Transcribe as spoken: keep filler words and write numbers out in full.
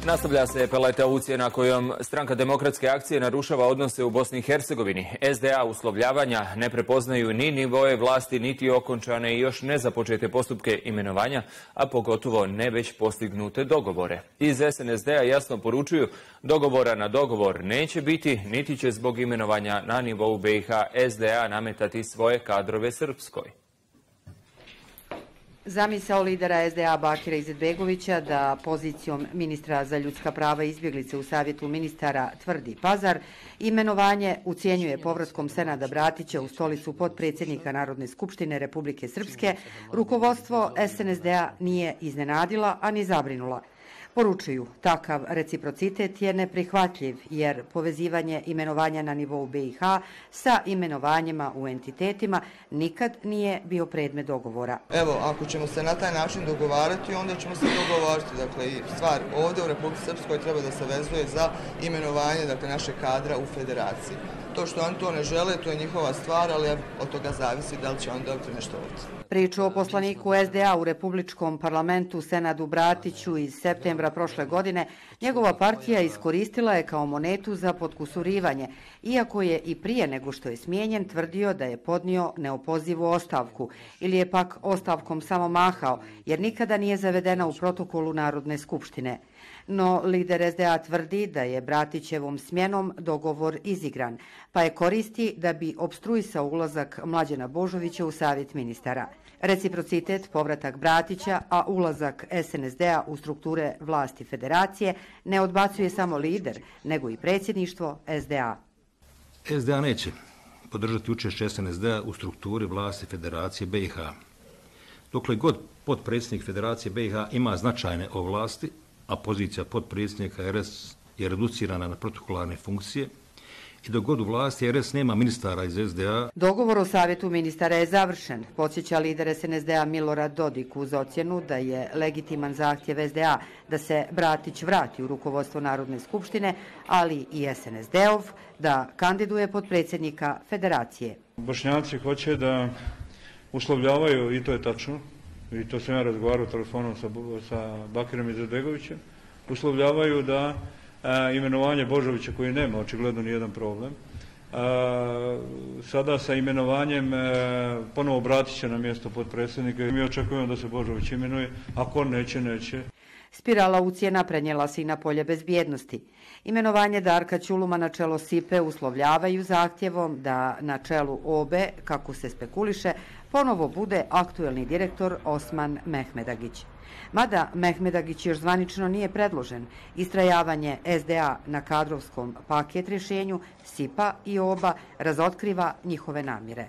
Nastavlja se paleta ucjena kojom Stranka demokratske akcije narušava odnose u Bosni i Hercegovini. S D A uslovljavanja ne prepoznaju ni nivoje vlasti, niti okončane i još ne započete postupke imenovanja, a pogotovo ne već postignute dogovore. Iz S N S D-a jasno poručuju, dogovora na dogovor neće biti, niti će zbog imenovanja na nivou B i H S D A nametati svoje kadrove Srpskoj. Zamisao lidera S D A Bakira Izetbegovića da pozicijom ministra za ljudska prava i izbjeglice u Savjetu ministara tvrdi Pazar, imenovanje ucijenjuje povratkom Senada Bratića u stolicu potpredsjednika Narodne skupštine Republike Srpske, rukovodstvo S N S D-a nije iznenadila, a ni zabrinula. Poručuju, takav reciprocitet je neprihvatljiv jer povezivanje imenovanja na nivou B i H sa imenovanjima u entitetima nikad nije bio predmet dogovora. Evo, ako ćemo se na taj način dogovarati, onda ćemo se dogovoriti. Dakle, stvar ovdje u Republici Srpskoj treba da se vezuje za imenovanje dakle, našeg kadra u federaciji. To što oni to ne žele, to je njihova stvar, ali od toga zavisi da li će oni dobiti nešto ovdje. Priču o poslaniku S D A u Republičkom parlamentu Senadu Bratiću iz septembra prošle godine njegova partija iskoristila je kao monetu za potkusurivanje, iako je i prije nego što je smijenjen tvrdio da je podnio neopozivu ostavku ili je pak ostavkom samo mahao, jer nikada nije zavedena u protokolu Narodne skupštine. No lider S D A tvrdi da je Bratićevom smjenom dogovor izigran, pa je koristi da bi opstruisao ulazak Mlađana Božovića u Savjet ministara. Reciprocitet, povratak Bratića, a ulazak S N S D-a u strukture vlasti federacije ne odbacuje samo lider, nego i predsjedništvo S D A. S D A neće podržati učešće S N S D-a u strukturi vlasti federacije B i H. Dokle god potpredsjednik federacije B i H ima značajne ovlasti, a pozicija potpredsjednika R S je reducirana na protokolarne funkcije, i dok god u vlasti R S nema ministara iz S D A. Dogovor o Savjetu ministara je završen, podsjeća lider S N S D-a Milorad Dodik uz ocjenu da je legitiman zahtjev S D A da se Bratić vrati u rukovodstvo Narodne skupštine, ali i S N S D-ov da kandiduje potpredsjednika federacije. Bošnjaci hoće da uslovljavaju, i to je tačno, i to sam ja razgovarao telefonom sa, sa Bakirom Izetbegovićem, uslovljavaju da a, imenovanje Božovića koji nema očigledno nijedan problem, a, sada sa imenovanjem a, ponovo Bratića na mjesto potpredsjednika. Mi očekujemo da se Božović imenuje, ako neće, neće. Spirala ucjena prenijela se i na polje bezbjednosti. Imenovanje Darka Ćuluma na čelo S I P-e uslovljavaju zahtjevom da na čelu O B E, kako se spekuliše, ponovo bude aktuelni direktor Osman Mehmedagić. Mada Mehmedagić još zvanično nije predložen, istrajavanje S D A na kadrovskom paket rješenju S I P-a i O B A razotkriva njihove namjere.